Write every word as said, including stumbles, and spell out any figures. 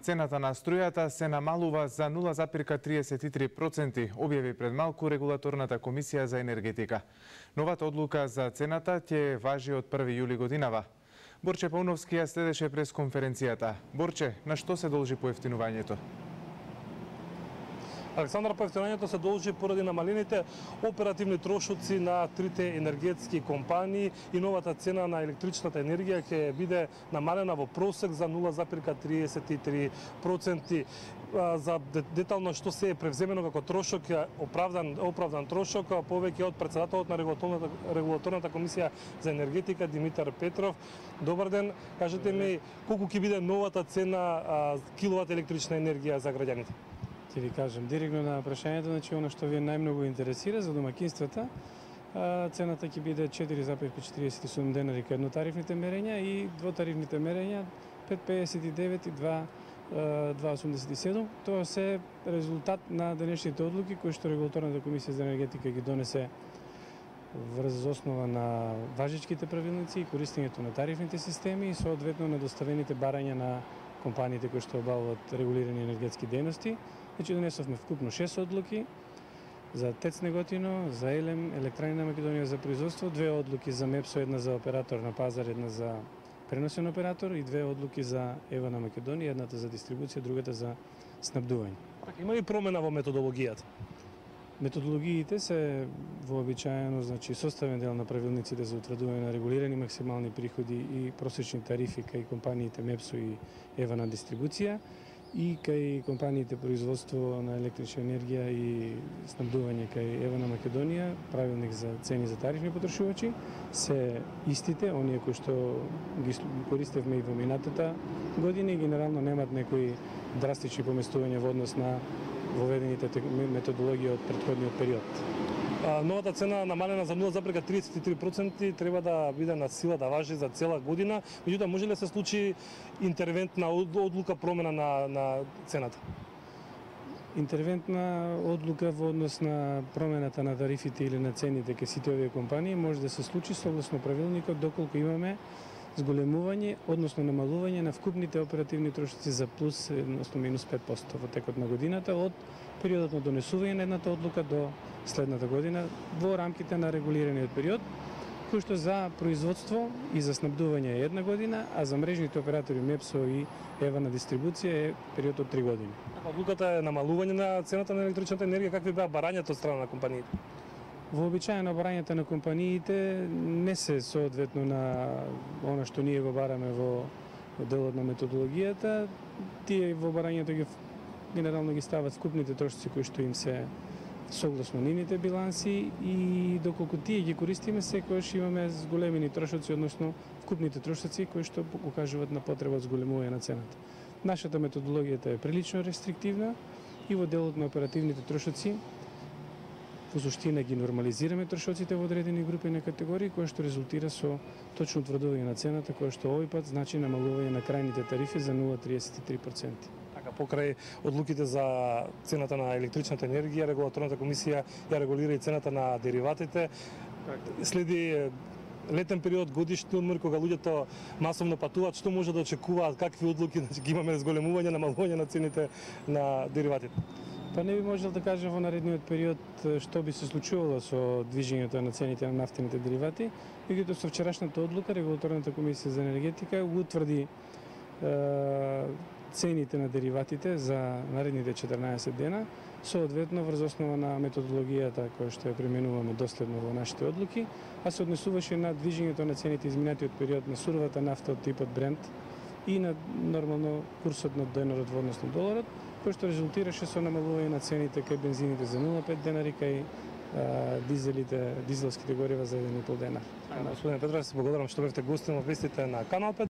Цената на струјата се намалува за нула запирка триесет и три проценти, објави пред малку Регулаторната комисија за енергетика. Новата одлука за цената ќе важи од први јули годинава. Борче Пауновски ја следеше през конференцијата. Борче, на што се должи поевтинувањето? Александар, поевтинувањето се должи поради намалените оперативни трошоци на трите енергетски компании и новата цена на електричната енергија ќе биде намалена во просек за нула запирка триесет и три проценти. За детално што се е превземено како трошок, оправдан оправдан трошок, повеќе од претседателот на Регулаторната, Регулаторната комисија за енергетика Димитар Петров. Добар ден, кажете ми колку ќе биде новата цена киловат електрична енергија за граѓаните? Ќе ви кажам директно на прашањето, значи она што ви најмногу интересира за домаќинствата, цената ќе биде четири запирка четириесет и седум денари кај еднотарифните мерења и двотарифните мерења пет пеесет и девет и два осумдесет и седум. Тоа се резултат на денешните одлуки кои што Регулаторната комисија за енергетика ги донесе врз основа на важечките правилници и користењето на тарифните системи и соодветно на доставените барања на компаниите кои што обавуваат регулирани енергетски дејности. Значи донесовме вкупно шест одлуки за ТЕЦ Неготино, за ЕЛЕМ, Електрани на Македонија за производство, две одлуки за МЕПСО, една за оператор на пазар, една за преносен оператор и две одлуки за ЕВА на Македонија, едната за дистрибуција, другата за снабдување. Има ли промена во методологијата? Методологиите се вообичаено, значи составен дел на правилниците за утврдување на регулирани максимални приходи и просечни тарифи кај компаниите МЕПСО и ЕВА на дистрибуција и кај компаниите производство на електрична енергија и снабдување кај ЕВА на Македонија, правилник за цени за тарифни потрошувачи, се истите, оние кои што ги користевме и во минатата година и генерално немат некои драстични поместувања во однос на воведените методологија од претходниот период. Новата цена намалена за нула запирка триесет и три проценти треба да биде на сила да важи за цела година. Меѓутоа, може ли да се случи интервентна одлука промена на, на цената? Интервентна одлука во однос на промената на тарифите или на цените кај сите овие компании може да се случи согласно правилникот доколку имаме зголемување, односно намалување на вкупните оперативни трошоци за плюс, односно минус пет проценти во текот на годината од периодот на донесување на едната одлука до следната година во рамките на регулираниот период, кој што за производство и за снабдување е една година, а за мрежните оператори МЕПСО и ЕВА на дистрибуција е период од три години. Одлуката е намалување на цената на електричната енергија, какви беа барањата од страна на компаниите? Вообичаено барањата на компаниите не се соодветно на она што ние го бараме во делот на методологијата. Тие во барањето ги генерално ги стават вкупните трошоци кои што им се согласно нивните биланси и доколку тие ги користиме, секогаш имаме зголемени трошоци, односно вкупните трошоци кои што укажуваат на потреба од зголемување на цената. Нашата методологијата е прилично рестриктивна и во делот на оперативните трошоци во суштина ги нормализираме трошоците во одредени групи на категории, кои што резултира со точно утврдување на цената, која што овој пат значи намалување на крајните тарифи за нула запирка триесет и три проценти. Така, покрај одлуките за цената на електричната енергија, Регулаторната комисија ја регулира и цената на дериватите. Следи летен период, годишни одмори, кога луѓето масовно патуваат, што може да очекуваат, какви одлуки, значи ги имаме зголемување, намалување на цените на дериватите? Па не би можел да кажем во наредниот период што би се случувало со движењето на цените на нафтените деривати, меѓутоа со вчерашната одлука Регулаторната комисија за енергетика утврди е, цените на дериватите за наредните четрнаесет дена, соодветно врз основа на методологијата која што ја применуваме доследно во нашите одлуки, а се однесуваше на движењето на цените изминатиот период на суровата нафта од типот Брент и на нормално курсот на денарот во однос на доларот, кој што резултираше со намалување на цените кај бензините за нула запирка пет денари, кај а, дизелите, дизелските горива за еден и пол денар. Господин Петров, се благодарам што бевте гостин во вестите на Канал пет.